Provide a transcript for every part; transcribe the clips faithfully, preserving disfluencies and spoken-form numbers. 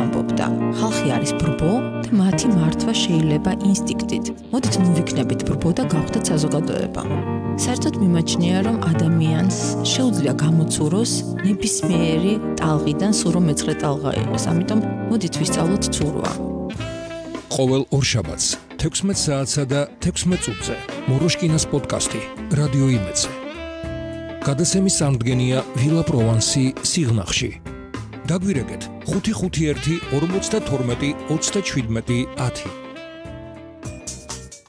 ამბობდა, ხალხი არის ბრბო და მათი მართვა შეიძლება ინსტინქტით. მოდით მოვიქნებით ბრბო და გავხდეთ საზოგადოება. საერთოდ მიმაჩნია, რომ ადამიანს შეუძლია გამოცუროს ნებისმიერი ტალღიდან სულ რომ მეცხრე ტალღა იყოს. ამიტომ მოდით ვისწავლოთ ცურვა. ყოველ ორშაბათს თექვსმეტ საათსა და თექვსმეტ წუთზე მოროშკინას პოდკასტი რადიო იმედზე. გადაცემის სამდგენია ვილა პროვანსი სიღნაღში. დაგვირეკეთ ხუთი ხუთი ერთი ორმოცდათორმეტი ოცდაჩვიდმეტი ათი.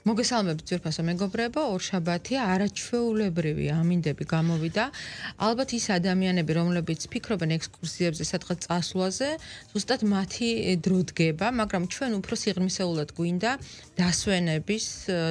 მოგესალმებით ძვირფასო მეგობრებო, ორშაბათია, არაჩვეულებრივი ამინდები გამოვიდა. ალბათ ის ადამიანები, რომლებიც ფიქრობენ ექსკურსიებზე, სადღაც წასვლაზე, ზუსტად მათი დრო დგება, მაგრამ ჩვენ უფრო სიღრმისეულად გვინდა დასვენების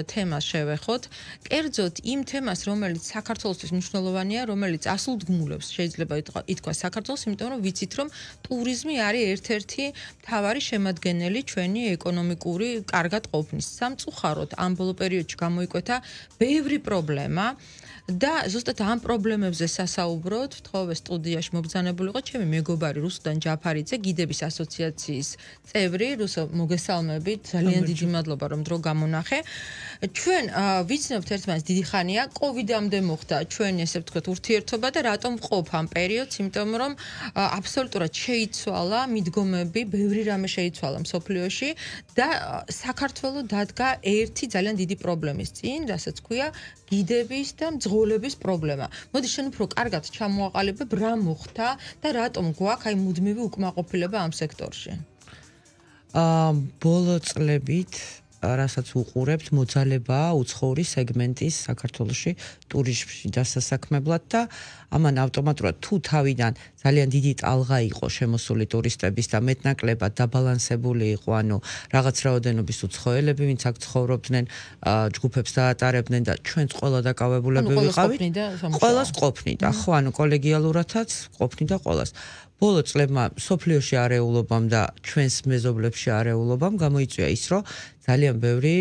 თემას შევეხოთ. კერძოდ იმ თემას, რომელიც საქართველოსთვის მნიშვნელოვანია, რომელიც ასულდგმულებს შეიძლება ითქვას საქართველოს, იმიტომ რომ ვიცით, რომ ტურიზმი არის ერთ-ერთი მთავარი შემადგენელი ჩვენი ეკონომიკური კარგად ყოფნის. სამწუხაროდ ამ ბოლო პერიოდში გამოიკვეთა ბევრი პრობლემა და ზუსტად ამ პრობლემებზე სასაუბროთ ვთხოვე სტუდიაში მობრძანებულიყო ჩემი მეგობარი რუსუდან ჯაფარიძე, გიდების ასოციაციის წევრი. რუსო, მოგესალმებით, ძალიან დიდი მადლობა რომ დრო გამონახე. ჩვენ ვიცნობთ ერთმანეთს დიდი ხანია, კოვიდამდე მოხდა ჩვენი ესე ვთქვათ ურთიერთობა და რატომ ვყოფ ამ პერიოდს, იმიტომ რომ აბსოლუტურად შეიცვალა მიდგომები, ბევრი რამე შეიცვალა მსოფლიოში და საქართველო დადგა ერთი ძალიან დიდი პრობლემის წინ, რასაც ქვია გიდების და მძღოლების პრობლემა. მოდი შენ უფრო კარგად ჩამოაყალიბებ რა მოხდა და რატომ გვაქვს აი მუდმივი უკმაყოფილება ამ სექტორში. აა ბოლო წლებით რასაც უყურებთ მოძალება უცხოური სეგმენტის საქართველოში ტურიზმში დასასაქმებლად და ამან ავტომატურად თუ თავიდან ძალიან დიდი ტალღა იყო შემოსული ტურისტების და მეტნაკლებად დაბალანსებული იყო, ანუ რაღაც რაოდენობის უცხოელები, ვინც აქ ცხოვრობდნენ, ჯგუფებს დაატარებდნენ და ჩვენც ყველა დაკავებულები ვიყავით. ყველას ყოფნიდა, ხო, ანუ კოლეგიალურადაც ყოფნიდა ყველას. ბოლო წლებმა სოფლიოში არეულობამ და ჩვენს მეზობლებში არეულობამ გამოიწვია ის, რომ ძალიან ბევრი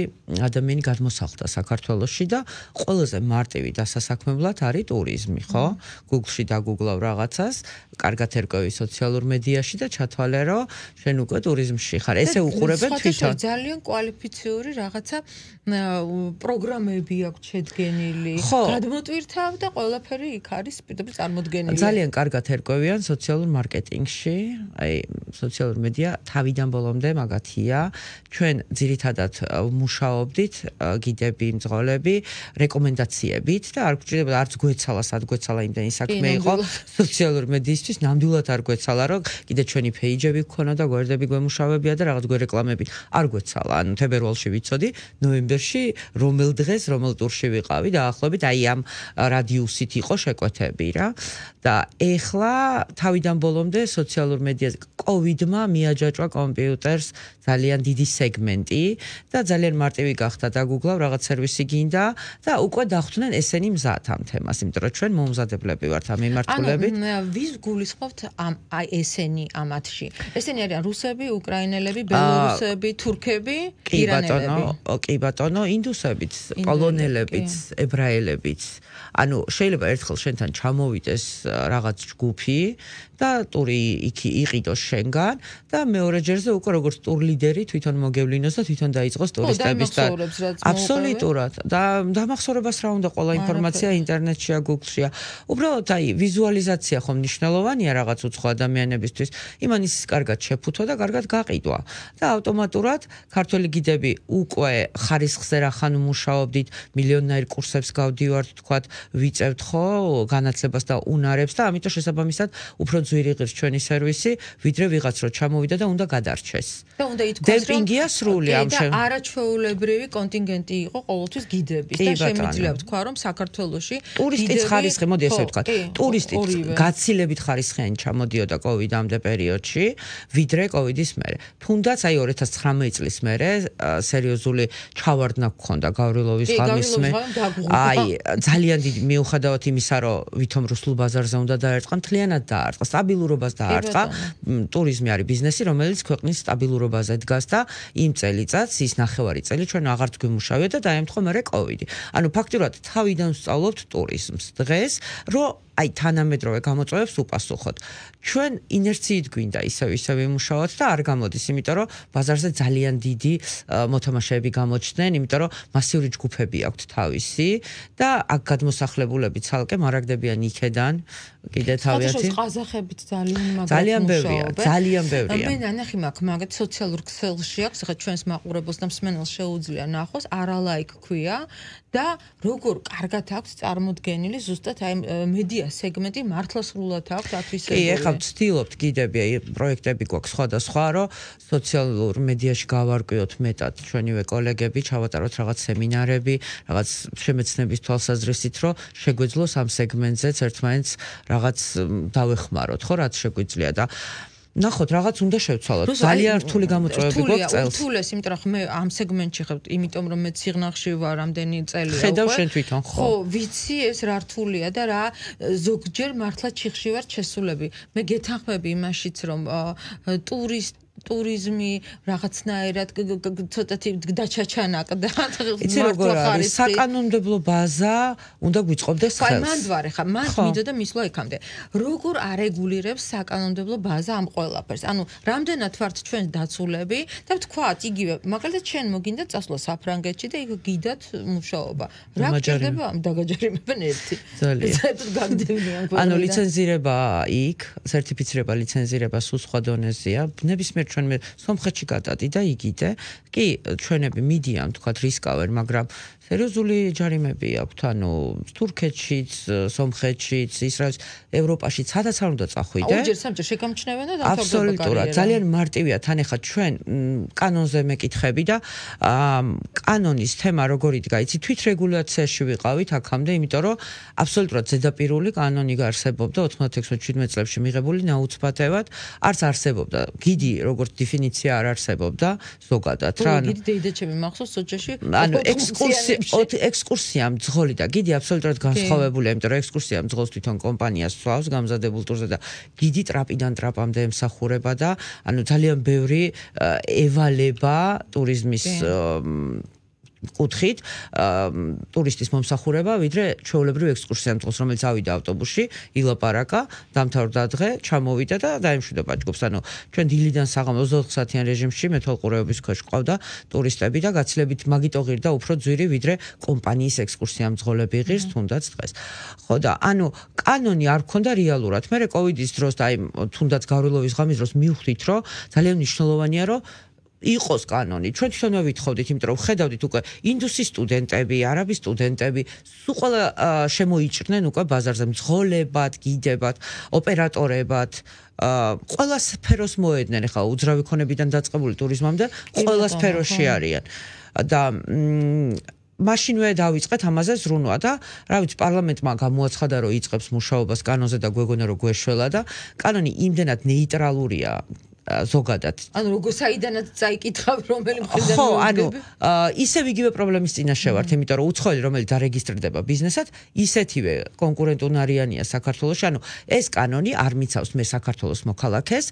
ადამიანი გადმოსახლდა საქართველოში და ყველაზე მარტივი დასასაქმებლად არის ტურიზმი, ხო? Google-ში დაგუგლავ რაღაცას, კარგად ერკვევი სოციალურ მედიაში და ჩათვალე, რომ შენ უკვე ტურიზმში ხარ. ესე უყურებენ თვითონ. ძალიან კვალიფიციური რაღაცა პროგრამები აქვს შედგენილი. გადმოტვირთავ და ყველაფერი იქ არის პირდაპირ წარმოდგენილი. ძალიან კარგად ერკვევიან სოციალურ მარკეტინგში, აი სოციალურ მედია თავიდან ბოლომდე მაგათია. ჩვენ ძირითადად მუშაობდით გიდები, მძღოლები, რეკომენდაციებით და არ გვჭირდება არც გვეცალა, სად გვეცალა იმდენი საქმე იყო სოციალურ მედიისთვის, ნამდვილად არ გვეცალა, რომ კიდე ჩვენი პეიჯები გქონა და გვერდები გვემუშავებია და რაღაც გვერეკლამები არ გვეცალა. ანუ თებერვალში ვიცოდი, ნოემბერში რომელ დღეს, რომელ ტურში ვიყავი და ახლობით აი ამ რადიუსით იყო შეკვეთები რა. და ეხლა თავიდან ბოლომდე სოციალურ მედიაზე კოვიდმა მიაჯაჭვა კომპიუტერს ძალიან დიდი სეგმენტი და ძალიან მარტივი გახდა დაგუგლავ რაღაც სერვისი გინდა და უკვე დახვდნენ ესენი მზად ამ თემას, იმიტომ რომ ჩვენ მომზადებლები ვართ ამ მიმართულებით. ანუ ვის გულისხმობთ ამ აი ესენი ამათში? ესენი არიან რუსები, უკრაინელები, ბელორუსები, თურქები, ირანელები. კი ბატონო, ინდუსებიც, პოლონელებიც, ებრაელებიც. ანუ შეიძლება ერთხელ შენთან ჩამოვიდეს რაღაც ჯგუფი და ტური იქ იყიდოს შენგან და მეორე ჯერზე უკვე როგორც ტურ ლიდერი თვითონ მოგევლინოს და თვითონ დაიწყოს ტურისტების და აბსოლუტურად და დამახსოვრებას რა უნდა ყველა ინფორმაცია ინტერნეტშია, Google-შია. უბრალოდ აი ვიზუალიზაცია ხომ მნიშვნელოვანია რაღაც უცხო ადამიანებისთვის. იმან ის კარგად შეფუთვა და კარგად გაყიდვა. და ავტომატურად ქართველი გიდები უკვე ხარისხზე რახან მუშაობდით, მილიონნაირ კურსებს გავდივართ, თქვათ, ვიწევთ ხო განათლებას და უნარებს და ამიტომ შესაბამისად უფრო ძვირი ღირს ჩვენი სერვისი, ვიდრე ვიღაც რო ჩამოვიდა და უნდა გადარჩეს. და უნდა ითქვას, რომ დემპინგია სრული ამ შენ. და არაჩვეულებრივი კონტინგენტი იყო ყოველთვის გიდების და შემიძლია ვთქვა, რომ საქართველოში ტურისტის ხარისხი, მოდი ესე ვთქვა, ტურისტის გაცილებით ხარისხიანი ჩამოდიოდა კოვიდამდე პერიოდში, ვიდრე კოვიდის მერე. თუნდაც აი ორი ათას ცხრამეტი წლის მერე სერიოზული ჩავარდნა გქონდა გავრილოვის ღამის მე. აი ძალიან დიდი მიუხედავად იმისა, რომ ვითომ რუსულ ბაზარზე უნდა დაერწყა, მთლიანად დაარწყა, სტაბილურობას დაარწყა. ტურიზმი არის ბიზნესი, რომელიც ქვეყნის სტაბილურობაზე დგას და იმ წელიწადს ის ნახევარი წელი ჩვენ აღარც გვიმუშავია და დაემთხვა მერე კოვიდი. ანუ ფაქტურად თავიდან ვსწავლობთ ტურიზმს. დღეს, რომ აი თანამედროვე გამოწვევებს უპასუხოთ. ჩვენ ინერციით გვინდა ისევ ისევ იმუშაოთ და არ გამოდის, იმიტომ რომ ბაზარზე ძალიან დიდი მოთამაშეები გამოჩნდნენ, იმიტომ რომ მასიური ჯგუფები აქვთ თავისი და აქ გადმოსახლებულები ცალკე მარაგდებიან იქედან კიდე თავიანთი ყაზახებით ძალიან მაგარი ძალიან ბევრია, ძალიან ბევრია. მე ნანახი მაქვს მაგათ სოციალურ ქსელში აქვს, ხა ჩვენს მაყურებელს და მსმენელს შეუძლია ნახოს, არალაიქ ქვია და როგორ კარგად აქვს წარმოდგენილი ზუსტად აი მედია სეგმენტი მართლა სრულად აქვს ათვისებული. კი, ეხლა ვცდილობთ კიდევ პროექტები გვაქვს სხვადასხვა, რომ სოციალურ მედიაში გავარკვიოთ მეტად ჩვენივე კოლეგები, ჩავატაროთ რაღაც სემინარები, რაღაც შემეცნების თვალსაზრისით, რომ შეგვეძლოს ამ სეგმენტზეც ერთმანეთს რაღაც დავეხმაროთ, ხო, რაც შეგვიძლია და ნახოთ, რაღაც უნდა შევცვალოთ. ძალიან რთული გამოწვევები გვაქვს წელს. რთულეს, იმიტომ რომ მე ამ სეგმენტში ხარ, იმიტომ რომ მე ციგნახში ვარ რამდენი წელია უკვე. ხედავ შენ თვითონ, ხო? ხო, ვიცი ეს რა რთულია და რა ზოგჯერ მართლა ჩიხში ვარ შესულები. მე გეთანხმები იმაშიც, რომ ტურისტ ტურიზმი რაღაცნაირად ცოტათი დაჩაჩანაკდა. იცი როგორ არის? საკანონმდებლო ბაზა უნდა გვიწყობდეს ხელს. აი მანდ ვარ ხა, მანდ მიდოდა მისვლა იქამდე. როგორ არეგულირებს საკანონმდებლო ბაზა ამ ყველაფერს? ანუ რამდენად ვართ ჩვენ დაცულები და ვთქვათ, იგივე, მაგალითად ჩვენ მოგინდა წასვლა საფრანგეთში და იქ გიდათ მუშაობა. რა გჭირდება ამ დაგაჯერიმებენ ერთი. ძალიან. საერთოდ გაგდევნიან ყველგან. ანუ ლიცენზირება იქ, სერტიფიცირება, ლიცენზირება სულ სხვა დონეზეა. ნებისმიერ ჩვენ მე სომხეთში გადადი და იგიდე. კი, ჩვენები მიდიან, თქვათ, რისკავენ, მაგრამ სერიოზული ჯარიმები აქვთ, ანუ თურქეთშიც, სომხეთშიც, ისრაელში, ევროპაში სადაც არ უნდა წახვიდე. აუჯერ სამჯერ შეგამჩნევენ და დამთავრდება კარიერა. აბსოლუტურად, ძალიან მარტივია, თან ეხა ჩვენ კანონზე მეკითხები და კანონის თემა როგორ იდგა, იცი, თვითრეგულაციაში ვიყავით აქამდე, იმიტომ რომ აბსოლუტურად ზედაპირული კანონი არსებობდა ოთხმოცდაექვსი შვიდმეტ წლებში მიღებული ნაუცბათევად, არც არსებობდა გიდი როგორც დეფინიცია არ არსებობდა ზოგადად რა. ანუ გიდი დეიდაჩები მახსოვს სოჭაში. ანუ ექსკურსია ექსკურსია მძღოლი და გიდი აბსოლუტურად განსხვავებულია, იმიტომ რომ ექსკურსია მძღოლს თვითონ კომპანია სვავს გამზადებულ ტურზე და გიდი ტრაპიდან ტრაპამდე ემსახურება და ანუ ძალიან ბევრი ევალება ტურიზმის კუთხით ტურისტის მომსახურება, ვიდრე ჩვეულებრივ ექსკურსია მძღოლს, რომელიც ავიდა ავტობუსში, ილაპარაკა, დამთავრდა დღე, ჩამოვიდა და დაემშვიდობა ჯგუფს. ანუ ჩვენ დილიდან საღამოს ოცდაოთხ საათიან რეჟიმში მეთვალყურეობის ქვეშ ყავდა ტურისტები და გაცილებით მაგიტო ღირდა უფრო ძვირი, ვიდრე კომპანიის ექსკურსია მძღოლები ღირს თუნდაც დღეს. ხო და ანუ კანონი არ გქონდა რეალურად. მე კოვიდის დროს და აი თუნდაც გავრილოვის ღამის დროს მივხვდით, რომ ძალიან მნიშვნელოვანია, რომ იყოს კანონი. ჩვენ თვითონვე ვითხოვდით, იმიტომ რომ ხედავდით უკვე ინდუსის სტუდენტები, არაბის სტუდენტები, სულ ყველა შემოიჭრნენ უკვე ბაზარზე მძღოლებად, გიდებად, ოპერატორებად, ყველა სფეროს მოედნენ, ახლა უძრავი ქონებიდან დაწყებული ტურიზმამდე, ყველა სფეროში არიან. და მაშინვე დავიწყეთ ამაზე ზრუნვა და რა ვიცი პარლამენტმა გამოაცხადა რომ იწყებს მუშაობას კანონზე და გვეგონა რომ გვეშველა და კანონი იმდენად ნეიტრალურია ზოგადად. ანუ როგორ საიდანაც წაიკითხავ რომელი მხრიდან ხო, ანუ ისევ იგივე პრობლემის წინაშე ვართ, იმიტომ რომ უცხოელი რომელიც დარეგისტრირდება ბიზნესად, ისეთივე კონკურენტუნარიანია საქართველოში. ანუ ეს კანონი არ მიცავს მე საქართველოს მოქალაქეს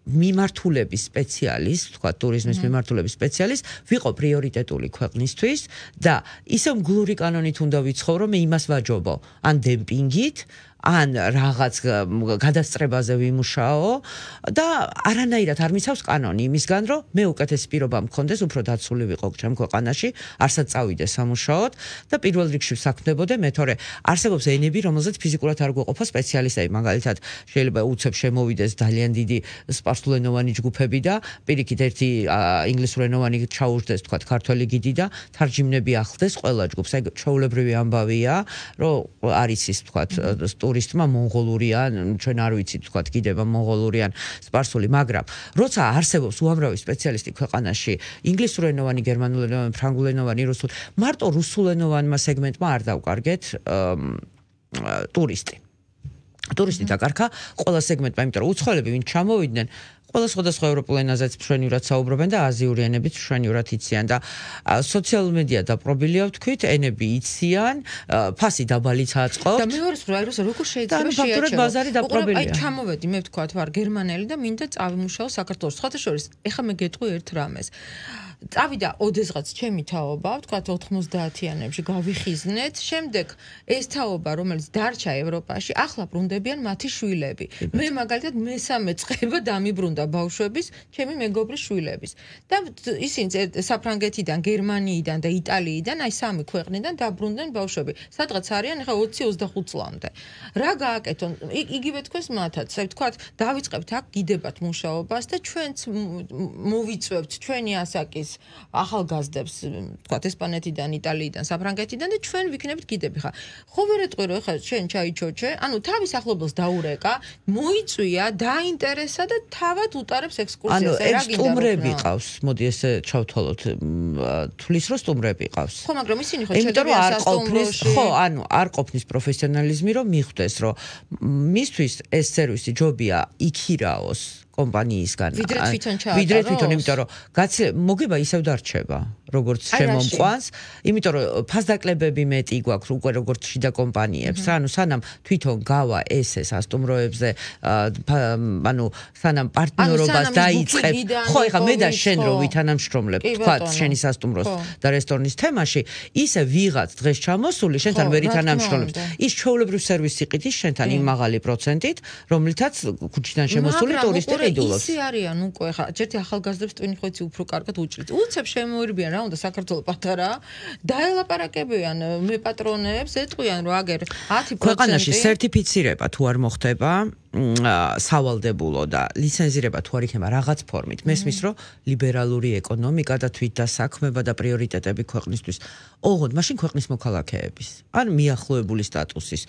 მიმართულების სპეციალისტ, თქვა ტურიზმის მიმართულების სპეციალისტ, ვიყო პრიორიტეტული ქვეყნისთვის და ისევ მგლური კანონით უნდა ვიცხოვრო, მე იმას ვაჯობო, ან დემპინგით, ან რაღაც გადასწრებაზე ვიმუშაო და არანაირად არ მიცავს კანონი იმისგან, რომ მე უკეთესი პირობა მქონდეს, უფრო დაცული ვიყო ჩემ ქვეყანაში, არსად წავიდე სამუშაოდ და პირველ რიგში ვსაქმდებოდე, მე თორე არსებობს ენები, რომელზეც ფიზიკურად არ გვეყოფა სპეციალისტები, მაგალითად შეიძლება უცებ შემოვიდეს ძალიან დიდი სპარსულენოვანი ჯგუფები და პირიქით ერთი ინგლისურენოვანი ჩაუждდეს, თქვა ქართველი გიდი და თარჯიმნები ახლდეს ყველა ჯგუფს. აი ჩვეულებრივი ამბავია, რომ არის ის თქვა ტურისტმა მონღოლურიან, ჩვენ არ ვიცით თქვა გიდება მონღოლურიან, სპარსული, მაგრამ როცა არსებობს უამრავი სპეციალისტი ქვეყანაში, ინგლისურენოვანი, გერმანულენოვანი, ფრანგულენოვანი, რუსულ, მარტო რუსულენოვანმა სეგმენტმა არ დავკარგეთ ტურისტი. ტურისტი დაკარგა ყველა სეგმენტმა, იმიტომ რომ უცხოელები ვინ ჩამოვიდნენ, ყველა სხვადასხვა ევროპულ ენაზეც მშვენივრად საუბრობენ და აზიური ენებიც მშვენივრად იციან და სოციალურ მედია დაპყრობილია ვთქვით, ენები იციან, ფასი დაბალიც აწყობთ. და მეორე სხვა როს როგორ შეიძლება შეაჩეროს? ბაზარი დაპყრობილია. აი ჩამოვედი მე ვთქვათ ვარ გერმანელი და მინდა წავიმუშაო საქართველოს. სხვათა შორის, ეხლა მე გეტყვი ერთ რამეს. წავიდა ოდესღაც ჩემი თაობა, ვთქვათ ოთხმოცდაათიანებში გავიხიზნეთ, შემდეგ ეს თაობა, რომელიც დარჩა ევროპაში, ახლა ბრუნდებიან მათი შვილები. მე მაგალითად მესამე წება დამიბრუნდა ბავშვების, ჩემი მეგობრის შვილების. და ისინი საფრანგეთიდან, გერმანიიდან და იტალიიდან, აი სამი ქვეყნიდან დაბრუნდნენ ბავშვები. სადღაც არიან ახლა ოცი ოცდახუთ წლამდე. რა გააკეთონ? იგივე თქვენს მათაც, აი ვთქვათ, დავიწყებთ აქ გიდებათ მუშაობას და ჩვენც მოვიწვევთ ჩვენი ასაკის ახალგაზრდებს, ვთქვათ, ესპანეთიდან, იტალიიდან, საფრანგეთიდან და ჩვენ ვიქნებით გიდები ხა. ხო ვერ ეტყვი რომ ეხლა შენ ჩაიჩოჩე, ანუ თავის ახლობელს დაურეკა, მოიწვია, დაინტერესა და თავად უტარებს ექსკურსიას. ანუ სტუმრები ყავს, მოდი ესე ჩავთვალოთ, თulis რომ სტუმრები ყავს. ხო, მაგრამ ისინი ხო შედებიან სასტუმროში. ხო, ანუ არ ყოფნის პროფესიონალიზმი რომ მიხვდეს, რომ მისთვის ეს სერვისი ჯობია იქირაოს კომპანიისგან. ვიდრე თვითონ ჩაატაროს. ვიდრე თვითონ, იმიტომ რომ გაცილ მოგება ისევ დარჩება, როგორც შემომყვანს, იმიტომ რომ ფასდაკლებები მეტი გვაქვს უკვე როგორც შიდა კომპანიებს, ანუ სანამ თვითონ გავა ესე სასტუმროებზე, ანუ სანამ პარტნიორობას დაიწყებ, ხო, ეხლა მე და შენ რო ვითანამშრომლებთ, თქვათ, შენი სასტუმროს და რესტორნის თემაში, ისე ვიღაც დღეს ჩამოსული, შენთან ვერ ითანამშრომლებს. ის ჩვეულებრივ სერვისი ყიდის შენთან იმ მაღალი პროცენტით, რომლითაც ქუჩიდან შემოსული ტურისტი ისე არიან უკვე ხა ერთი ახალგაზრდებს ტვინი ხო იცი უფრო კარგად უჭრით. უცებ შემოერბიან რა უნდა საქართველოს პატარა დაელაპარაკებიან მე პატრონებს ეტყვიან რომ აგერ ათი პროცენტი ქვეყანაში სერტიფიცირება თუ არ მოხდება სავალდებულო და ლიცენზირება თუ არ იქნება რაღაც ფორმით მესმის რომ ლიბერალური ეკონომიკა და თვითდასაქმება და პრიორიტეტები ქვეყნისთვის ოღონდ მაშინ ქვეყნის მოქალაქეების ან მიახლოებული სტატუსის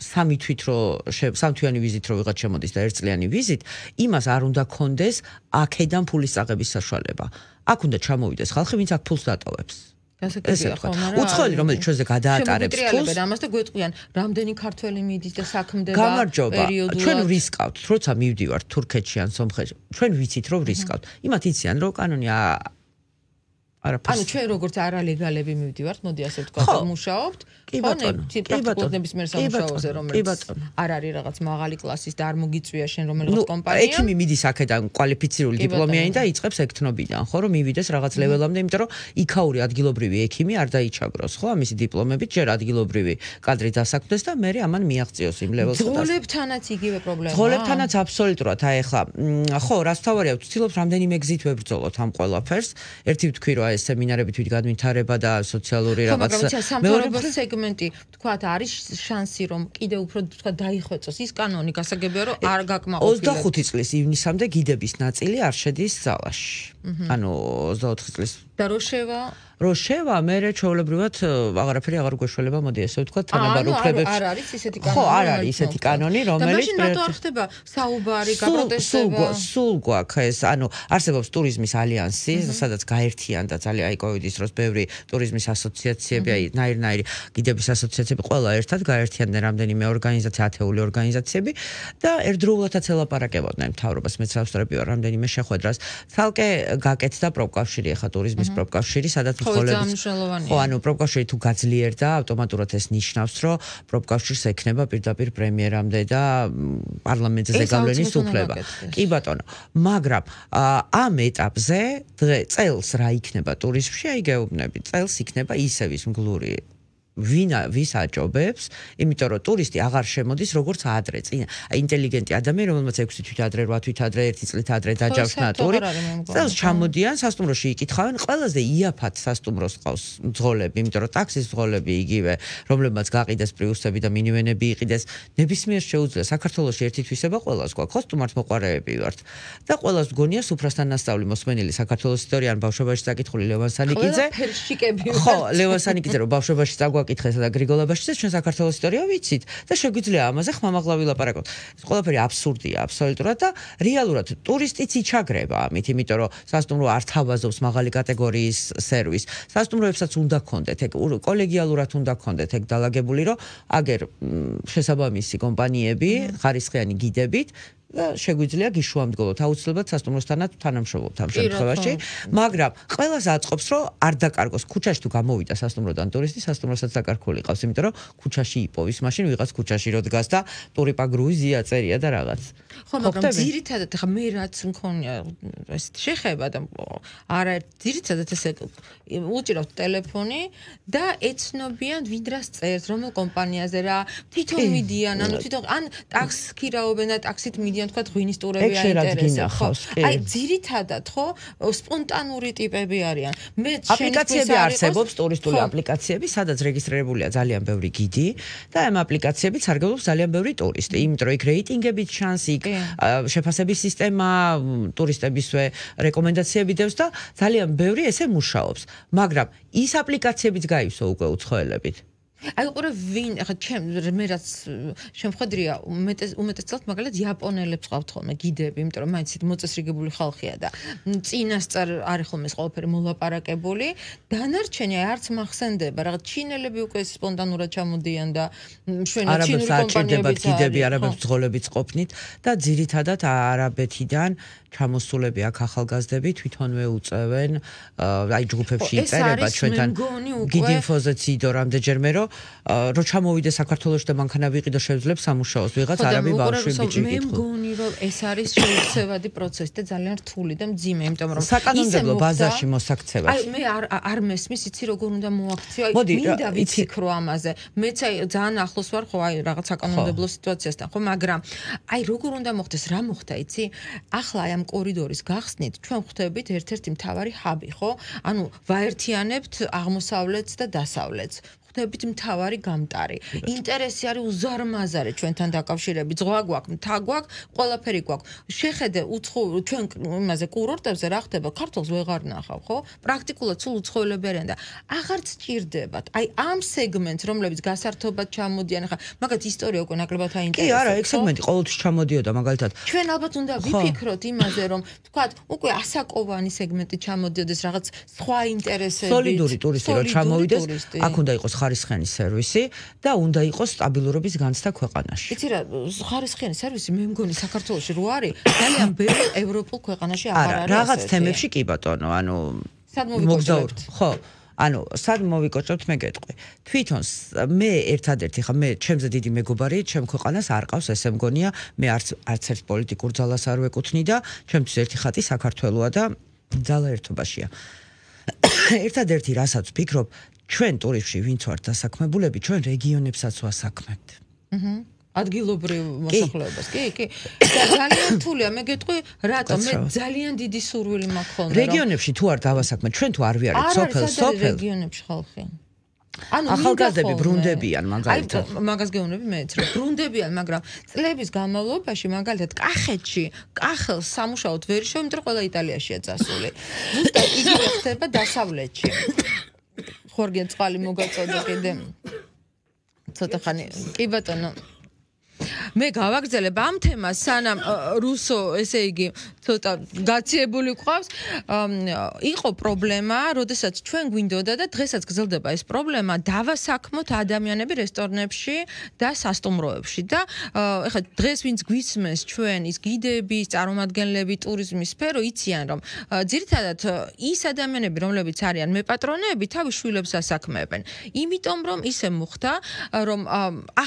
სამი თვით რო სამთვიანი ვიზით რო ვიღაც შემოდის და ერთწლიანი ვიზით იმას არ უნდა კონდეს აქედან ფულის წაღების საშუალება აქ უნდა ჩამოვიდეს ხალხი ვინც აქ ფულს დატოვებს გასაგებია ხო მაგრამ უცხოელი რომელიც ჩვენზე გადაატარებს ფულს ამას და გვეტყვიან რამდენი ქართველი მიდის და საქმდება პერიოდულად ჩვენ ვისკავთ როცა მივდივართ თურქეთში ან სომხეთში ჩვენ ვიცით რომ ვისკავთ იმათ იციან რომ კანონი არაფერს ანუ ჩვენ როგორც არალეგალები მივდივართ მოდი ასე ვთქვათ მუშაობთ ხო პრაქტიკულნების მიერ სამუშაოზე რომელიც არ არის რაღაც მაღალი კლასის და არ მოგიწვია შენ რომელიღაც კომპანია ექიმი მიდის აქედან კვალიფიცირებული დიპლომიანი და იწყებს ექთნობიდან ხო რომ მივიდეს რაღაც ლეველამდე იმიტომ რომ იქაური ადგილობრივი ექიმი არ დაიჩაგროს ხო ამისი დიპლომებით ჯერ ადგილობრივი კადრი დასაქმდეს და მე ამან მიაღწიოს იმ ლეველს ძღოლებთანაც იგივე პრობლემაა ძღოლებთანაც აბსოლუტურად აი ახლა ხო რას თავარია ვცდილობ რამდენიმე გზით ვებრძოლოთ ამ ყველაფერს ერთი ვთქვი რომ ეს სემინარები თვით გადმითარება და სოციალური რაღაც მეორე სეგმენტი თქვათ არის შანსი რომ კიდე უფრო თქვათ დაიხვეწოს ის კანონი გასაგებია რომ არ გაკმაყოფილებს ოცდახუთი წლის ივნისამდე გიდების ნაწილი არ შედის ზალაში ანუ ოცდაოთხი წლის და რო შევა რო შევა მე ჩვეულებრივად აღარაფერი აღარ გვეშველება მოდი ესე ვთქვათ თანაბარ უფლებებს არ არის ისეთი კანონი ხო არ არის ისეთი კანონი რომელიც და მაშინ რატო არ ხდება საუბარი გაპროტესტება სულ გვაქვს ეს ანუ არსებობს ტურიზმის ალიანსი სადაც გაერთიანდა ძალიან აი კოვიდის დროს ბევრი ტურიზმის ასოციაციები აი ნაირ-ნაირი გიდების ასოციაციები ყველა ერთად გაერთიანდნენ რამდენიმე ორგანიზაცია ათეული ორგანიზაციები და ერთდროულადაც ელაპარაკებოდნენ მთავრობას მეც ავსტრები ვარ რამდენიმე შეხვედრას თალკე გაკეთდა პროფკავშირი ახლა ტურიზმის პროფკავშირი სადაც ხო ანუ პროფკავშირი თუ გაძლიერდა ავტომატურად ეს ნიშნავს რომ პროფკავშირს ექნება პირდაპირ პრემიერამდე და პარლამენტზე გავლენის უფლება კი ბატონო მაგრამ ამ ეტაპზე წელს რა იქნება ტურიზმში აი გეუბნები წელს იქნება ისევ ის მგლური ვინა ვის აჭობებს იმიტომ რომ ტურისტი აღარ შემოდის როგორც ადრე წინ ინტელიგენტი ადამიანი რომელმაც ექვსი თვით ადრე რვა თვით ადრე ერთი წლით ადრე დაჯავშნა ტური წელს ჩამოდიან სასტუმროში იკითხავენ ყველაზე იაფად სასტუმროს ყავს მძღოლები იმიტომ რომ ტაქსის მძღოლები იგივე რომლებმაც გაყიდეს პრიუსები და მინივენები იყიდეს ნებისმიერ შეუძლია საქართველოში ერთი თვისება ყველას გვაქვს ხო სტუმართ მოყარეები ვართ და ყველას გონია სუფრასთან ნასწავლი მოსმენილი საქართველოს ისტორია ან ბავშვობაში საკითხული ლევან სანიკიძე ხო ლევან სანიკიძე რომ ბავშვობაში წაგვაკ კითხესა და გრიგოლაბაშიძე ჩვენ საქართველოს ისტორია ვიცით და შეგვიძლია ამაზე ხმამაღლა ვილაპარაკოთ. ეს ყველაფერი აბსურდია აბსოლუტურად და რეალურად ტურისტიც იჩაგრება ამით, იმიტომ რომ სასტუმრო არ თავაზობს მაღალი კატეგორიის სერვისს. სასტუმროებსაც უნდა ქონდეთ, ეგ კოლეგიალურად უნდა ქონდეთ ეგ დალაგებული, რომ აგერ შესაბამისი კომპანიები ხარისხიანი გიდებით და შეგვიძლია გიშუამდგოლოთ აუცილებლად სასტუმროსთანაც თანამშრომლობთ ამ შემთხვევაში, მაგრამ ყველას აწყობს რომ არ დაკარგოს ქუჩაში თუ გამოვიდა სასტუმროდან ტურისტი, სასტუმროსაც დაკარგული ყავს, იმიტომ რომ ქუჩაში იპოვის, მაშინ ვიღაც ქუჩაში რო დგას და ტურიპა გრუზია წერია და რაღაც. ხო, მაგრამ ძირითადად ხა მე რაც მქონია ესეთი შეხება და არა ძირითადად ესე უჭირავთ ტელეფონი და ეცნობიან ვინ რას წერს, რომელ კომპანიაზე რა, თვითონ მიდიან, ანუ თვითონ ან ტაქსს ქირაობენ და ტაქსით მიდიან, თქვა ღვინის ტურები აინტერესებს. აი ძირითადად ხო სპონტანური ტიპები არიან. მე აპლიკაციები არსებობს, ტურისტული აპლიკაციები, სადაც რეგისტრირებულია ძალიან ბევრი გიდი და ამ აპლიკაციებით სარგებლობს ძალიან ბევრი ტურისტი, იმიტომ რომ იქ რეიტინგებით ჩანს, იქ შეფასების სისტემა ტურისტებისვე რეკომენდაციები დევს და ძალიან ბევრი ესე მუშაობს. მაგრამ ის აპლიკაციებიც გაივსო უკვე უცხოელებით. აი უყურე ვინ ახლა ჩემ მე რაც შემხედრია უმეტეს უმეტესწილად მაგალითად იაპონელებს ყავთ ხოლმე გიდები, იმიტომ რომ მაინც მოწესრიგებული ხალხია და წინასწარ არის ხოლმე ეს ყველაფერი მოლაპარაკებული. დანარჩენი არც მახსენდება, რაღაც ჩინელები უკვე სპონტანურად ჩამოდიან და მშვენიერ ჩინური კომპანიებიც გიდები არაბებს ძღოლებიც ყოფნით და ძირითადად არაბეთიდან ჩამოსულები აქ ახალგაზრდები თვითონვე უწევენ აი ჯგუფებში იწერება ჩვენთან გიდი ინფოზე ციდო რამდენჯერმე რომ რო ჩამოვიდე საქართველოში და მანქანა ვიყიდო შევძლებ სამუშაოს ვიღაც არაბი ბავშვი ბიჭი მე მგონი რომ ეს არის შეუცვლელი პროცესი და ძალიან რთული და მძიმე, იმიტომ რომ საკანონმდებლო ბაზაში მოსაქცევაში აი მე არ არ მესმის იცი როგორ უნდა მოაქციო აი მინდა ვიციქრო ამაზე მეც აი ძალიან ახლოს ვარ ხო აი რაღაც საკანონმდებლო სიტუაციასთან ხო მაგრამ აი როგორ უნდა მოხდეს რა მოხდა იცი ახლა აი ამ კორიდორის გახსნით ჩვენ ხვდებით ერთ-ერთი მთავარი ჰაბი ხო ანუ ვაერთიანებთ აღმოსავლეთს და დასავლეთს ხვდებით მთავარი გამტარი ინტერესი არის უზარმაზარი ჩვენთან დაკავშირებით ზღვა გვაქვს მთა გვაქვს ყველაფერი გვაქვს შეხედე უცხო ჩვენ იმაზე კურორტებზე რა ხდება ქართულს ვეღარ ნახავ ხო პრაქტიკულად სულ უცხოელები არიან და აღარც ჭირდებათ აი ამ სეგმენტს რომლებიც გასართობად ჩამოდიან ახლა მაგათ ისტორია უკვე ნაკლებად აინტერესებს კი არა ეგ სეგმენტი ყოველთვის ჩამოდიოდა მაგალითად ჩვენ ალბათ უნდა ვიფიქროთ იმაზე რომ თქვათ უკვე ასაკოვანი სეგმენტი ჩამოდიოდეს რაღაც სხვა ინტერესები სოლიდური ტურისტი რომ ჩამოვიდეს აქ უნდა იყოს ხარისხიანი სერვისი და უნდა იყოს სტაბილურობის განცდა ქვეყანაში. იცი რა, ხარისხიანი სერვისი მე მგონი საქართველოში რო არის, ძალიან ბევრი ევროპულ ქვეყანაში აღარ არის. არა, რაღაც თემებში კი ბატონო, ანუ სად მოვიკოჭებთ? ხო. ანუ სად მოვიკოჭებთ მე გეტყვი. თვითონ მე ერთადერთი ხა მე ჩემზე დიდი მეგობარი ჩემ ქვეყანას არ ყავს ესე მგონია მე არც არც ერთ პოლიტიკურ ძალას არ ვეკუთვნი და ჩემთვის ერთი ხატი საქართველოა და ძალა ერთობაშია. ერთადერთი რასაც ვფიქრობ ჩვენ ტურისტში ვინც ვართ დასაქმებულები, ჩვენ რეგიონებსაც ვასაქმებთ. აჰა. ადგილობრივ მოსახლეობას, კი, კი. და ძალიან რთულია, მე გეტყვი, რატომ მე ძალიან დიდი სურვილი მაქვს ხოლმე. რეგიონებში თუ არ დავასაქმეთ, ჩვენ თუ არ ვიარეთ სოფელ, სოფელ რეგიონებში ხალხი. ანუ ახალგაზრდები ბრუნდებიან მაგალითად. აი მაგას გეუბნები მეც, რომ ბრუნდებიან, მაგრამ წლების განმავლობაში მაგალითად კახეთში, კახელს სამუშაოდ ვერ შევა, იმიტომ რომ ყველა იტალიაშია წასული. ზუსტად იგივე ხდება დასავლეთში. ხორგენ წყალი მოგაწოდა კიდე ცოტა ხანი კი ბატონო მე გავაგრძელებ ამ თემას სანამ რუსო ესე იგი ცოტა გაციებული ყავს იყო პრობლემა როდესაც ჩვენ გვინდოდა და დღესაც გრძელდება ეს პრობლემა დავასაქმოთ ადამიანები რესტორნებში და სასტუმროებში და ეხლა დღეს ვინც გვისმენს ჩვენ ის გიდები წარმომადგენლები ტურიზმის სფერო იციან რომ ძირითადად ის ადამიანები რომლებიც არიან მეპატრონეები თავის შვილებს ასაქმებენ იმიტომ რომ ისე მოხდა რომ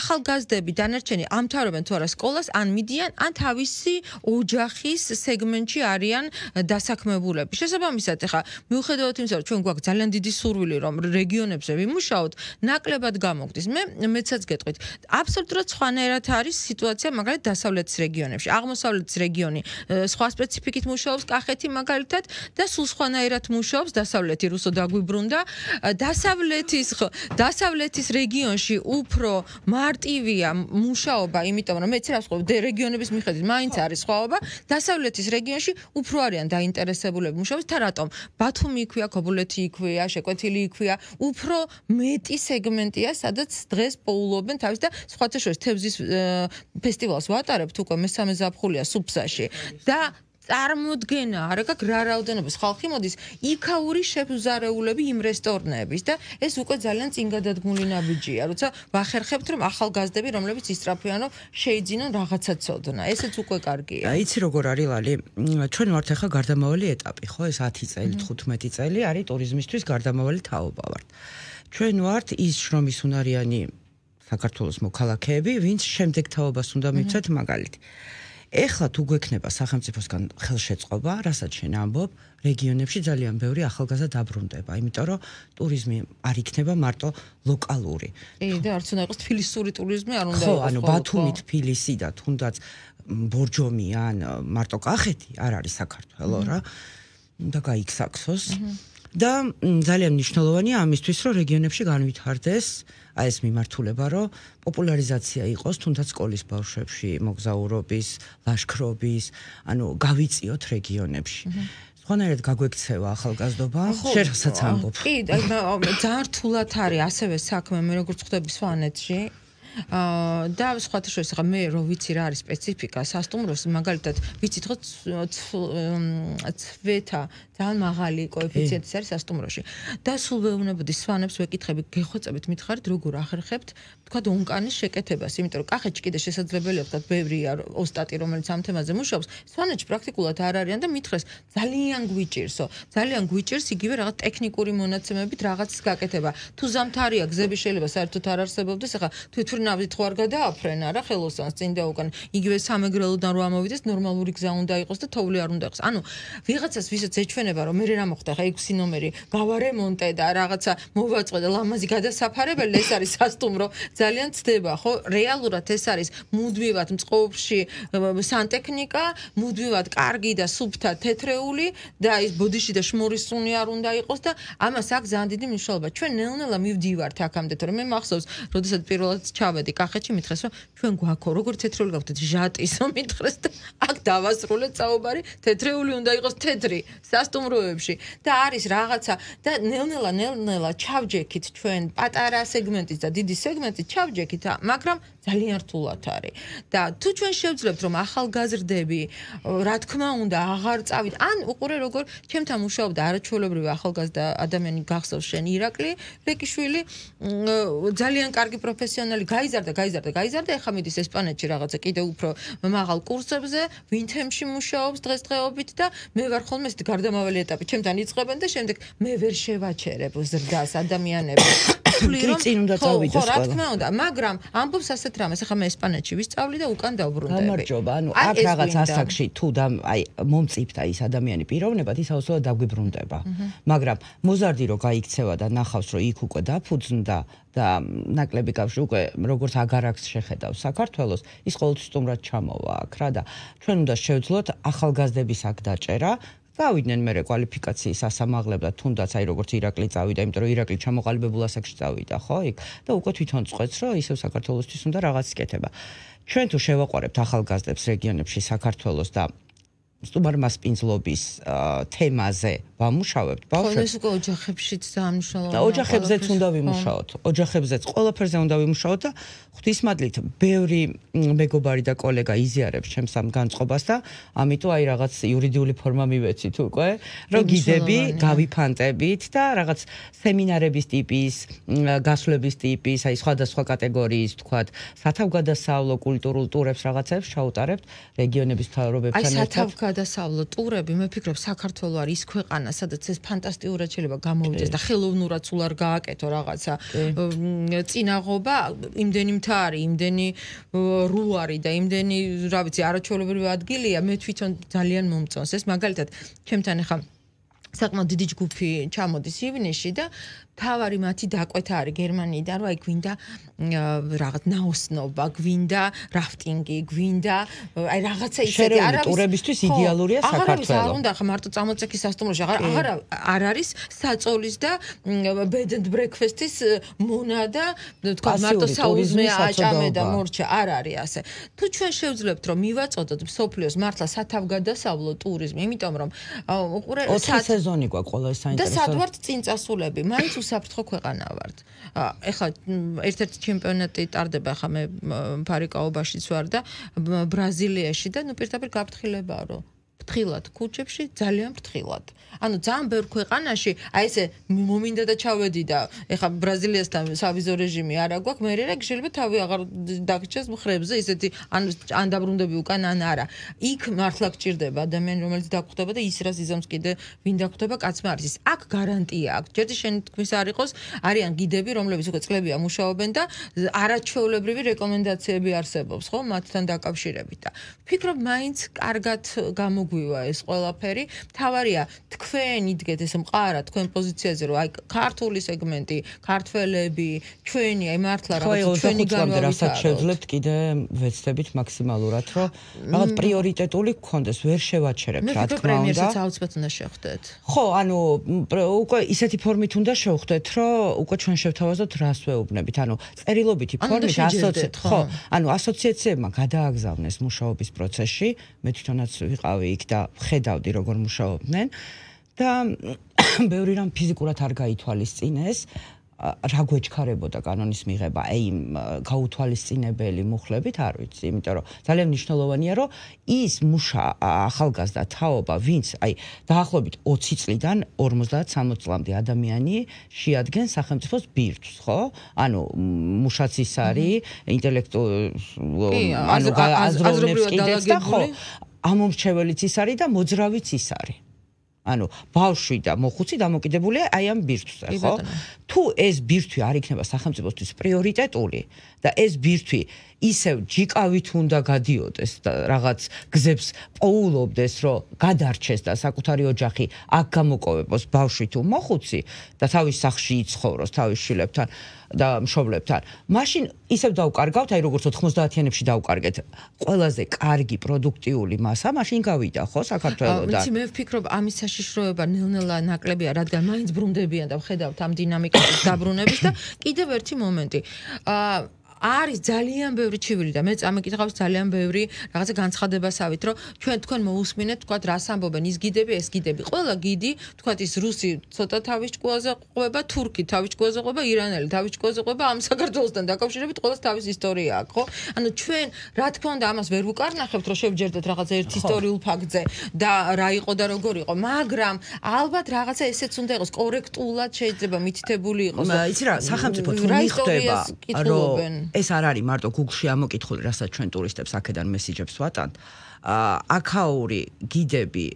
ახალგაზრდები დანარჩენი ამთავრებენ თუ არა სკოლას ან მიდიან ან თავისი ოჯახის სეგმენტში არიან დასაქმებულები. შესაბამისად, ეხლა მიუხედავად იმისა, რომ ჩვენ გვაქვს ძალიან დიდი სურვილი, რომ რეგიონებზე ვიმუშაოთ, ნაკლებად გამოგდის. მე მეცაც გეტყვით, აბსოლუტურად სხვანაირად არის სიტუაცია მაგალითად დასავლეთის რეგიონებში. აღმოსავლეთის რეგიონი სხვა სპეციფიკით მუშაობს, კახეთი მაგალითად და სულ სხვანაირად მუშაობს დასავლეთი რუსო დაგვიბრუნდა. დასავლეთის დასავლეთის რეგიონში უფრო მარტივია მუშაობა, იმიტომ რომ მეც რას ხვდები, რეგიონების მიხედვით მაინც არის სხვაობა. დასავლეთის რეგიონში უფრო არიან დაინტერესებულები მუშაობის, თა რატომ? ბათუმი იქვია, ქობულეთი იქვია, შეკვეთილი იქვია, უფრო მეტი სეგმენტია, სადაც დღეს პოულობენ თავის და სხვათა შორის თევზის ფესტივალს ვატარებთ უკვე მესამე ზაფხულია სუფსაში და წარმოდგენა არ აქვს რა რაოდენობის ხალხი მოდის იქაური შეფუზარეულები იმ რესტორნების და ეს უკვე ძალიან წინ გადადგმული ნაბიჯია, როცა ვახერხებთ რომ ახალგაზრდები რომლებიც ისწრაფიანო შეიძინონ რაღაცა ცოდნა. ესეც უკვე კარგია. იცი როგორ არის ლალი? ჩვენ ვართ ახლა გარდამავალი ეტაპი, ხო? ეს ათი წელი, თხუთმეტი წელი არის ტურიზმისთვის გარდამავალი თაობა ვართ. ჩვენ ვართ ის შრომის უნარიანი საქართველოს მოქალაქეები, ვინც შემდეგ თაობას უნდა მივცეთ მაგალითი. ეხლა თუ გვექნება სახელმწიფოსგან ხელშეწყობა, რასაც შენ ამბობ, რეგიონებში ძალიან ბევრი ახალგაზრდა დაბრუნდება, იმიტომ რომ ტურიზმი არ იქნება მარტო ლოკალური. კი, და არც უნდა იყოს თბილისური ტურიზმი, არ უნდა ხო, იყოს. ანუ ბათუმი, თბილისი და თუნდაც ბორჯომი ან მარტო კახეთი არ არის საქართველო რა. და გაიქსაქსოს. და ძალიან მნიშვნელოვანია ამისთვის, რომ რეგიონებში განვითარდეს აი ეს მიმართულება, რომ პოპულარიზაცია იყოს თუნდაც სკოლის ბავშვებში, მოგზაურობის, ლაშქრობის, ანუ გავიწიოთ რეგიონებში. სხვანაირად გაგვექცევა ახალგაზრდობა, შენ რასაც ამბობ. კი, ძალიან რთულად არის ასევე საქმე, მე როგორც ხვდები სვანეთში. აა და სხვათა შორის ახლა მე რო ვიცი რა არის სპეციფიკა სასტუმროს, მაგალითად ვიცით ხო ცვეთა ძალიან მაღალი კოეფიციენტის არის სასტუმროში. და სულ ვეუბნებოდი სვანებს ვეკითხები, გეხვეწებით მითხარით როგორ ახერხებთ თქვა უნკანის შეკეთებას, იმიტომ რომ კახეთში კიდე შესაძლებელია თქვა ბევრია ოსტატი რომელიც ამ თემაზე მუშაობს, სვანეთში პრაქტიკულად არ არიან და მითხრეს ძალიან გვიჭირსო, ძალიან გვიჭირს იგივე რაღაც ტექნიკური მონაცემებით რაღაცის გაკეთება. თუ ზამთარია გზები შეიძლება საერთოდ არ არსებობდეს, ახლა თვითონ ნავით ხო არ გადააფრენა რა ხელოსანს წინ და უკან იგივე სამეგრელოდან რო ამოვიდეს ნორმალური გზა უნდა იყოს და თოვლი არ უნდა იყოს. ანუ ვიღაცას ვისაც ეჩვენება რომ მე რა მოხდა ხა ექვსი ნომერი გავარემონტე და რაღაცა მოვაწყვე და ლამაზი გადასაფარებელი ეს არის სასტუმრო ძალიან ცდება ხო რეალურად ეს არის მუდმივად მწყობრში სანტექნიკა მუდმივად კარგი და სუფთა თეთრეული და ის ბოდიში და შმორის სუნი არ უნდა იყოს და ამას აქვს ძალიან დიდი მნიშვნელობა. ჩვენ ნელ-ნელა მივდივართ აქამდე თორემ მე მახსოვს როდესაც პირველად ჩავედი კახეთში მითხრეს რომ ჩვენ გვაქო როგორ თეთრეული გაქვთ ჟატისო მითხრეს და აქ დავასრულეთ საუბარი თეთრეული უნდა იყოს თეთრი სასტუმროებში და არის რაღაცა და ნელ-ნელა ნელ-ნელა ჩავჯექით ჩვენ პატარა სეგმენტის და დიდი სეგმენტის ჩავჯექით მაგრამ ძალიან რთულად არის და თუ ჩვენ შევძლებთ რომ ახალგაზრდები რა თქმა უნდა აღარ წავით ან უყურე როგორ ჩემთან მუშაობდა არაჩვეულებრივი ახალგაზრდა ადამიანი გახსოვს შენ ირაკლი რეკიშვილი ძალიან კარგი პროფესიონალი გაიზარდა გაიზარდა გაიზარდა ეხლა მიდის ესპანეთში რაღაცა კიდე უფრო მაღალ კურსებზე ვინთემში მუშაობს დღესდღეობით და მე ვარ ხოლმე ეს გარდამავალი ეტაპი ჩემთან იწყებენ და შემდეგ მე ვერ შევაჩერებ ზრდას ადამიანებს კი წინ უნდა წავიდეს ხო რა თქმა უნდა მაგრამ ამბობს ასეთ რამეს ახლა მე ესპანეთში ვისწავლი და უკან დავბრუნდები გამარჯობა ანუ აქ რაღაც ასაკში თუ და აი მომწიფდა ის ადამიანი პიროვნებად ის აუცილებლად დაგვიბრუნდება მაგრამ მოზარდი რო გაიქცევა და ნახავს რომ იქ უკვე დაფუძნდა და ნაკლები კავშირი უკვე როგორც აგარაკს შეხედავს საქართველოს ის ყოველთვის სტუმრად ჩამოვა აქ რა და ჩვენ უნდა შევძლოთ ახალგაზრდების აქ დაჭერა გავიდნენ მე კვალიფიკაციის ასამაღლებ და თუნდაც აი როგორც ირაკლი წავიდა იმიტომ რომ ირაკლი ჩამოყალიბებულ ასაკში წავიდა ხო იქ და უკვე თვითონ წყვეტს რომ ისევ საქართველოსთვის უნდა რაღაც იკეთება ჩვენ თუ შევაყვარებთ ახალგაზრდებს რეგიონებში საქართველოს და სტუმარმასპინძლობის თემაზე ვამუშავებთ ბავშვებს. ეს უკვე ოჯახებშიც დაამუშავებთ. და ოჯახებზეც უნდა ვიმუშაოთ. ოჯახებზეც ყველაფერზე უნდა ვიმუშაოთ და ღვთისმადლით ბევრი მეგობარი და კოლეგა იზიარებს ჩემს ამ განწყობას და ამიტომ აი რაღაც იურიდიული ფორმა მივეცით უკვე, რომ გიდები გავიფანტებით და რაღაც სემინარების ტიპის, გასვლების ტიპის, აი სხვადასხვა კატეგორიის, თქვათ, სათავგადასავლო კულტურულ ტურებს რაღაცებს ჩაუტარებთ რეგიონების მთავრობებთან ერთად. გადასავლო ტურები, მე ვფიქრობ, საქართველო არის ის ქვეყანა, სადაც ეს ფანტასტიკურად შეიძლება გამოვიდეს და ხელოვნურად სულ არ გააკეთო რაღაცა წინაღობა, იმდენი მთა არის, იმდენი ru არის და იმდენი, რა ვიცი, არაჩვეულებრივი ადგილია, მე თვითონ ძალიან მომწონს ეს, მაგალითად, ჩემთან ახლა საკმაოდ დიდი ჯგუფი ჩამოდის ივნისში და თავარი მათი დაკვეთა არის გერმანიიდან, რომ აი გვინდა რაღაც ნაოსნობა, გვინდა რაფტინგი, გვინდა აი რაღაცა ისეთი არავის ტურებისთვის იდეალურია საქართველო. აღარ უნდა ხა მარტო წამოწექი სასტუმროში, აღარ აღარ არ არის საწოლის და bed and breakfast-ის მონა და თქვა მარტო საუზმე აჭამე და მორჩა არ არის ასე. თუ ჩვენ შევძლებთ რომ მივაწოდოთ მსოფლიოს მართლა სათავგადასავლო ტურიზმი, იმიტომ რომ უყურე სეზონი გვაქვს ყველა ეს საინტერესო. და სად ვართ წინწასულები, მაინც უსაფრთხო ქვეყანა ვართ. ეხლა ერთ-ერთი ჩემპიონატი ტარდება, ახლა მე ფარიკაობაშიც ვარ და ბრაზილიაში და ნუ პირდაპირ გაფრთხილებაა რომ ფრთხილად ქუჩებში, ძალიან ფრთხილად. ანუ ძალიან ბევრ ქვეყანაში, აი ესე მომინდა და ჩავედი და ეხა ბრაზილიასთან სავიზო რეჟიმი არა გვაქვს, მე რა შეიძლება თავი აღარ დაგჭეს მხრებზე, ისეთი ან ან დაბრუნდები უკან ან არა. იქ მართლა გჭირდება ადამიანი, რომელიც დაგხვდება და ის რას იზამს კიდე ვინ დაგხვდება, კაცმა არის ის. აქ გარანტია აქვს. ჯერჯერ შენი თქმის არ იყოს, არიან გიდები, რომლებიც უკვე წლებია მუშაობენ და არაჩვეულებრივი რეკომენდაციები არსებობს, ხო, მათთან დაკავშირებით და ვფიქრობ, მაინც კარგად გამოგვივა ეს ყველაფერი. თავარია თქვენ იდგეთ ეს მყარა თქვენ პოზიციაზე, რომ აი ქართული სეგმენტი, ქართველები, ჩვენი აი მართლა რაღაც ჩვენი განვავითაროთ. რასაც შევძლებთ კიდე ვეცდებით მაქსიმალურად, რომ რაღაც პრიორიტეტული გქონდეს, ვერ შევაჩერებთ რა თქმა უნდა. მე პრემიერსაც აუცილებლად უნდა შევხვდეთ. ხო, ანუ უკვე ისეთი ფორმით უნდა შევხვდეთ, რომ უკვე ჩვენ შევთავაზოთ რას ვეუბნებით. ანუ წერილობითი ფორმით ასოციაციებმა, ხო, ანუ ასოციაციებმა გადააგზავნეს მუშაობის პროცესში, მე თვითონაც ვიყავი იქ და ხედავდი როგორ მუშაობდნენ და ბევრი რამ ფიზიკურად არ გაითვალისწინეს. რა გვეჩქარებოდა კანონის მიღება, აი გაუთვალისწინებელი მუხლებით, არ ვიცი, იმიტომ რომ ძალიან მნიშვნელოვანია, რომ ის მუშა ახალგაზრდა თაობა, ვინც აი დაახლოებით ოცი წლიდან ორმოცდაათ სამოცი წლამდე ადამიანი შეადგენს სახელმწიფოს ბირთვს, ხო? ანუ მუშაც ის არის, ინტელექტუალური, ანუ აზროვნებს კიდეც და ხო, ამომრჩეველიც ის არის და მოძრავიც ის არის. ანუ ბავშვი და მოხუცი დამოკიდებულია აი ამ ბირთვზე, ხო? თუ ეს ბირთვი არ იქნება სახელმწიფოსთვის პრიორიტეტული და ეს ბირთვი ისევ ჯიკავით უნდა გადიოდეს და რაღაც გზებს პოულობდეს, რომ გადარჩეს და საკუთარი ოჯახი აქ გამოკოვებოს ბავშვი თუ მოხუცი და თავის სახლში იცხოვროს თავის შვილებთან და მშობლებთან. მაშინ ისევ დავკარგავთ, აი როგორც ოთხმოცდაათიანებში დავკარგეთ, ყველაზე კარგი პროდუქტიული მასა მაშინ გავიდა, ხო, საქართველოსთან. ვიცი, მე ვფიქრობ, ამის საშიშროება ნელ-ნელა ნაკლებია, რადგან მაინც ბრუნდებიან და ვხედავთ ამ დინამიკას დაბრუნების და კიდევ ერთი მომენტი. აა არის ძალიან ბევრი ჩივილი და მე წამეკითხავს ძალიან ბევრი რაღაცა განცხადებასავით, რომ ჩვენ თქვენ მოусმინეთ, თქვათ რას ამბობენ ის გიდები, ეს გიდები. ყველა გიდი, თქვათ ის რუსი ცოტა თავის ჭკუაზე ყვება, თურქი თავის ჭკუაზე ყვება, ირანელი თავის ჭკუაზე ყვება, ამ საქართველოსთან დაკავშირებით ყველას თავის ისტორია აქვს, ხო? ანუ ჩვენ რა თქმა უნდა ამას ვერ ვუკარნახებთ, რომ შევჯერდეთ რაღაც ერთ ისტორიულ ფაქტზე და რა იყო და როგორ იყო, მაგრამ ალბათ რაღაცა ესეც უნდა იყოს კორექტულად შეიძლება მითითებული იყოს. იცი რა, სახელმწიფო თუ მიხვდება, რომ ეს არ არის მარტო Google-ში ამოკითხული, რასაც ჩვენ ტურისტებს აქედან მესიჯებს ვატანთ. აკაური გიდები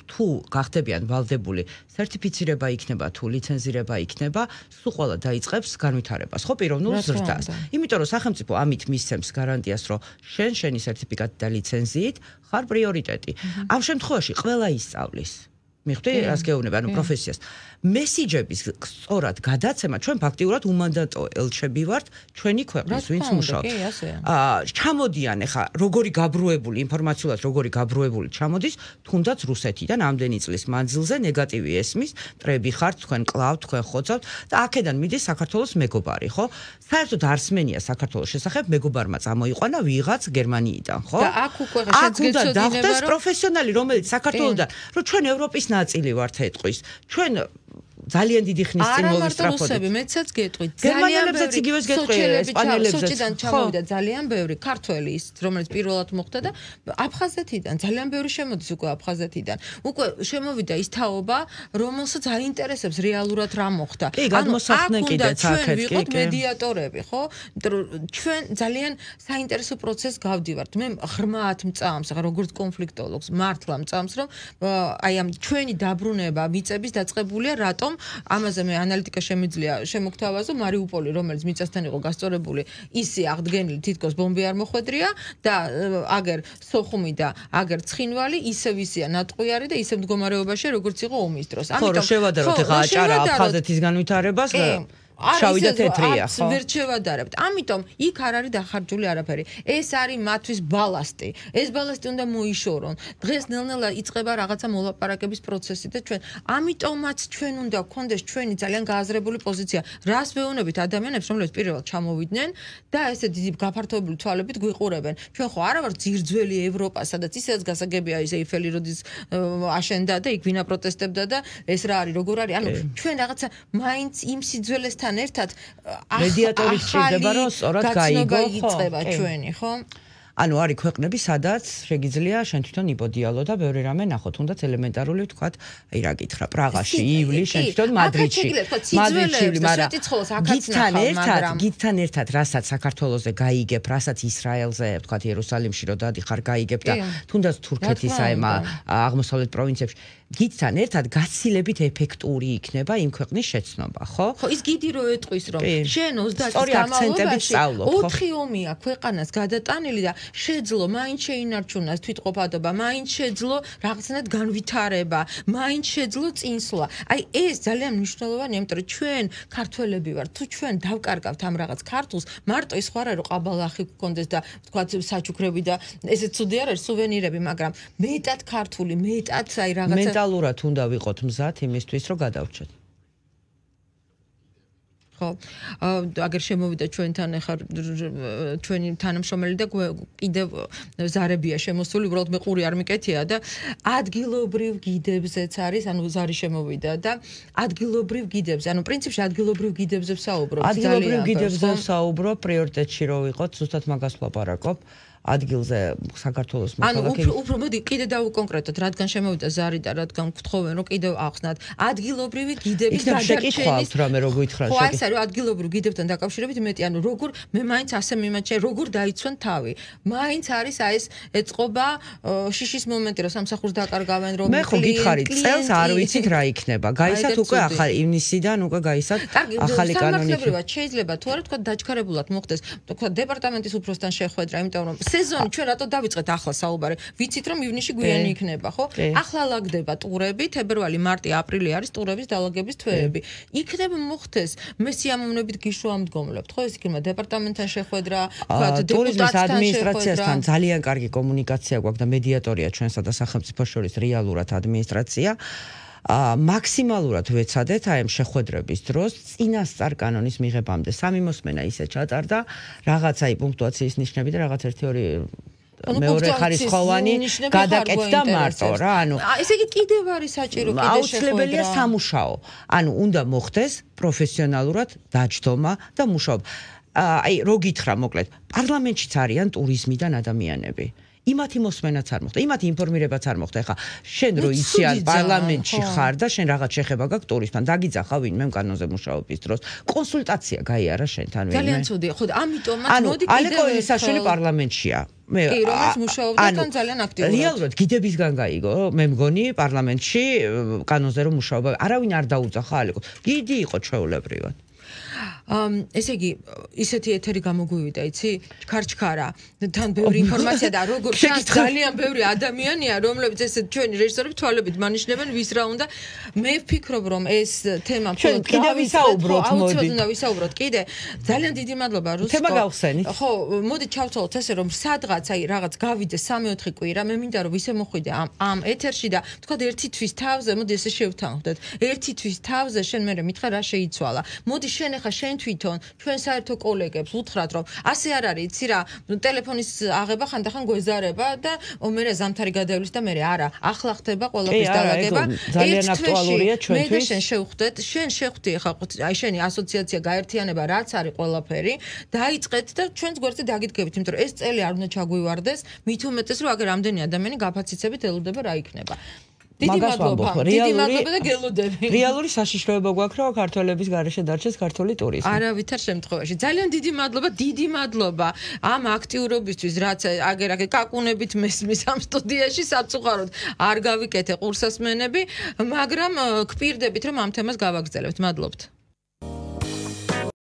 თუ გახდებიან ვალდებული, სერტიფიცირება იქნება თუ ლიცენზირება იქნება, სულ ყველა დაიწყებს განვითარებას, ხო, პიროვნულ ზრდას. იმიტომ რომ სახელმწიფო ამით მისცემს გარანტიას, რომ შენ შენი სერტიფიკატი და ლიცენზიით ხარ პრიორიტეტი. ამ შემთხვევაში ყველა ისწავლის. მიხვდი, რას გეუბნება, ანუ პროფესიას. მესიჯების სწორად გადაცემა ჩვენ ფაქტიურად უმანდატო ელჩები ვართ ჩვენი ქვეყნის, ვინც მუშაობს. აა ჩამოდიან ახლა როგორი გაბრუებული ინფორმაციულად, როგორი გაბრუებული ჩამოდის, თუნდაც რუსეთიდან ამდენი წლის მანძილზე ნეგატივი ესმის, მტრები ხართ, თქვენ კლავთ, თქვენ ხოცავთ და აქედან მიდის საქართველოს მეგობარი, ხო? საერთოდ არსმენია საქართველოს შესახებ მეგობარმა წამოიყვანა ვიღაც გერმანიიდან, ხო? და აქ უკვე შეცგეცოდინება, რომ პროფესიონალი, რომელიც საქართველოსთან, რომ ჩვენ ევროპის ნაწილი ვართ ეთყვის. ჩვენ ძალიან დიდი ხნის წინ მოვისწრაფოდით. არა, მეცაც გეტყვით. გერმანელებზეც იგივეს გეტყვი, ესპანელებზეც. სოჭიდან ჩამოვიდა ძალიან ბევრი ქართველი ის, რომელიც პირველად მოხდა და აფხაზეთიდან, ძალიან ბევრი შემოდის უკვე აფხაზეთიდან. უკვე შემოვიდა ის თაობა, რომელსაც აინტერესებს რეალურად რა მოხდა. კი, გადმოსახდნენ კიდეც აქეთ, კი, ვიყოთ მედიატორები, ხო? ჩვენ ძალიან საინტერესო პროცესს გავდივართ. მე ღრმად მწამს, როგორც კონფლიქტოლოგს, მართლა მწამს, რომ აი ამ ჩვენი დაბრუნება მიწების დაწყებულია რატომ ამაზე მე ანალიტიკა შემიძლია შემოგთავაზო. მარიუპოლი, რომელიც მიწასთან იყო გასწორებული, ისე აღდგენილი თითქოს ბომბი არ მოხვედრია და აგერ სოხუმი და აგერ ცხინვალი ისევ ისეა ნატყვიარი და ისევ მდგომარეობაშია, როგორც იყო ომის დროს. ამიტომ ხო, შევადაროთ ახლა აჭარა აფხაზეთის განვითარებას და შავი და თეთრია, ხო? ვერ შევადარებთ. ამიტომ იქ არ არის დახარჯული არაფერი. ეს არის მათთვის ბალასტი. ეს ბალასტი უნდა მოიშორონ. დღეს ნელ-ნელა იწყება რაღაცა მოლაპარაკების პროცესი და ჩვენ ამიტომაც ჩვენ უნდა გქონდეს ჩვენი ძალიან გააზრებული პოზიცია. რას ვეუბნებით ადამიანებს, რომლებიც პირველად ჩამოვიდნენ და ესე დიდი გაფართოებული თვალებით გვიყურებენ. ჩვენ ხო არა ვართ ძირძველი ევროპა, სადაც ისედაც გასაგებია ის ეიფელი როდის აშენდა და იქ ვინა პროტესტებდა და ეს რა არის, როგორ არის? ანუ ჩვენ რაღაცა მაინც იმ სიძველესთან ერთად მედიატორი შეიძლება რომ სწორად გაიგო, ხო? ჩვენი, ხო? ანუ არის ქვეყნები, სადაც შეგიძლია შენ თვითონ იბოდიალო და ბევრი რამე ნახო, თუნდაც ელემენტარული ვთქვათ, აი რა გითხრა, პრაღაში, ივლისში, შენ თვითონ მადრიდში. მადრიდში, მაგრამ გითთან ერთად, გითთან ერთად, რასაც საქართველოზე გაიგებ, რასაც ისრაელზე, ვთქვათ, იერუსალიმში რო დადიხარ, გაიგებ და თუნდაც თურქეთის აი აღმოსავლეთ პროვინციებში გითთან ერთად გაცილებით ეფექტური იქნება იმ ქვეყნის შეცნობა, ხო? ხო, ის გიდი რო ეტყვის, რომ შენ ოცდაათი განმავლობაში ოთხი ომია ქვეყანას გადატანილი და შეძლო მაინც შეინარჩუნოს თვითყოფადობა, მაინც შეძლო რაღაცნაირად განვითარება, მაინც შეძლო წინსვლა. აი ეს ძალიან მნიშვნელოვანია, იმიტომ რომ ჩვენ ქართველები ვართ, თუ ჩვენ დავკარგავთ ამ რაღაც ქართულს, მარტო ის ხარ რომ ყაბალახი გქონდეს და თქვათ საჩუქრები და ესეც ცუდი არ არის სუვენირები, მაგრამ მეტად ქართული, მეტად აი რაღაცა მენტალურად უნდა ვიყოთ მზად იმისთვის, რომ გადავრჩეთ. ხო, აგერ შემოვიდა ჩვენთან ახლა ჩვენი თანამშრომელი და კიდევ ზარებია შემოსული, უბრალოდ მე ყური არ მიკეთია და ადგილობრივ გიდებზეც არის, ანუ ზარი შემოვიდა და ადგილობრივ გიდებზე, ანუ პრინციპში ადგილობრივ გიდებზე ვსაუბრობ. ადგილობრივ გიდებზე ვსაუბრობ, პრიორიტეტში რო ვიყოთ, ზუსტად მაგას ვლაპარაკობ. ადგილზე საქართველოს მოქალაქე. ანუ უფრო მოდი კიდე დავუკონკრეტოთ, რადგან შემოვიდა ზარი და რადგან გთხოვენ, რომ კიდევ ახსნათ ადგილობრივი გიდების გადარჩენის რამე რო გითხრათ. ხო, ეს არის ადგილობრივ გიდებთან დაკავშირებით მეტი, ანუ როგორ მე მაინც ასე მიმაჩნია, როგორ დაიცვენ თავი. მაინც არის აი ეს ეწყობა შიშის მომენტი, რომ სამსახურს დაკარგავენ, რომ მე ხო გითხარით, წელს არ ვიცით რა იქნება. გაისათ უკვე ახალი ივნისიდან უკვე გაისათ ახალი კანონი. შეიძლება თუ არა თქვა დაჩქარებულად მოხდეს, თქვა დეპარტამენტის უფროსთან შეხვედრა, იმიტომ რომ სეზონი ჩვენ რატო დავიწყეთ ახლა საუბარი? ვიცით რომ ივნისში გვიანი იქნება, ხო? ახლა ლაგდება ტურები, თებერვალი, მარტი, აპრილი არის ტურების დალაგების თვეები. იქნება მოხდეს, მე სიამოვნებით გიშუამდგომლებთ, ხო? ეს იქნება დეპარტამენტთან შეხვედრა, თქვათ დეპუტატთან ადმინისტრაციასთან ძალიან კარგი კომუნიკაცია გვაქვს და მედიატორია ჩვენსა და სახელმწიფოს შორის რეალურად ადმინისტრაცია. ა მაქსიმალურად ვეცადეთ აი ამ შეხვედრების დროს წინასწარ კანონის მიღებამდე სამი მოსმენა ისე ჩატარდა, რაღაც აი პუნქტუაციის ნიშნები და რაღაც ერთი ორი მეორე ხარისხოვანი გადაკეთდა მარტო რა, ანუ ესე იგი კიდევ არის საჭირო კიდე შეხვედრა. აუცილებელია სამუშაო. ანუ უნდა მოხდეს პროფესიონალურად დაჯდომა და მუშაობა. აი რო გითხრა მოკლედ, პარლამენტშიც არიან ტურიზმიდან ადამიანები. იმათი მოსმენაც არ მოხდა, იმათი ინფორმირებაც არ მოხდა. ეხა შენ რო იციან პარლამენტში ხარ და შენ რაღაც შეხება გაქვს ტურიზმთან, დაგიძახა ვინმე კანონზე მუშაობის დროს. კონსულტაცია გაიარა შენთან ვინმე. ძალიან ცუდი, ხო, ამიტომაც მოდი კიდევ ალეკო ელისაშვილი პარლამენტშია. მე კი, რომელიც მუშაობდა თან ძალიან აქტიურად. რეალურად გიდებისგან გაიგო, მე მგონი პარლამენტში კანონზე რომ მუშაობა, არავინ არ დაუძახა ალეკო. გიდი იყო ჩვეულებრივად. ამ ესე იგი ისეთი ეთერი გამოგვივიდა, იცი? ჩქარჩქარა. თან ბევრი ინფორმაცია და როგორ ჩანს ძალიან ბევრი ადამიანია, რომლებიც ესე ჩვენი რეჟისორები თვალებით მანიშნებენ ვის რა უნდა. მე ვფიქრობ, რომ ეს თემა ჩვენ კიდე ვისაუბროთ, მოდი. უნდა ვისაუბროთ კიდე. ძალიან დიდი მადლობა რუსკო. თემა გავხსენით. ხო, მოდი ჩავთვალოთ ესე რომ სადღაც აი რაღაც გავიდეს სამი-ოთხი კვირა, მე მინდა რომ ისე მოხვიდე ამ ამ ეთერში და თქვა ერთი თვის თავზე, მოდი ესე შევთანხმდეთ. ერთი თვის თავზე შენ მე მითხრა რა შეიცვალა. მოდი შენ ახლა შენ თვითონ ჩვენ საერთო კოლეგებს უთხრათ რომ ასე არ არის, იცი რა, ტელეფონის აღება ხანდახან გვეზარება და მე ზამთარი გადავლის და მე არა, ახლა ხდება ყველაფრის დალაგება. ძალიან აქტუალურია ჩვენთვის. მე და შენ შევხვდეთ, შენ შევხვდი ახლა აი შენი ასოციაცია გაერთიანება რაც არის ყველაფერი, დაიწყეთ და ჩვენს გვერდზე დაგიდგებით, იმიტომ რომ ეს წელი არ უნდა ჩაგვივარდეს, მით უმეტეს რომ აგერ რამდენი ადამიანი გაფაციცებით ელოდება რა იქნება. დიდი მადლობა, დიდი მადლობა და გელოდები. რეალური საშიშროება გვაქვს, რომ ქართველების გარეშე დარჩეს ქართული ტურიზმი. არავითარ შემთხვევაში. ძალიან დიდი მადლობა, დიდი მადლობა ამ აქტიურობისთვის, რაც აგერ აგერ კაკუნებით მესმის ამ სტუდიაში საწუხაროდ არ გავიკეთე ყურსასმენები, მაგრამ გპირდებით რომ ამ თემას გავაგრძელებთ. მადლობთ.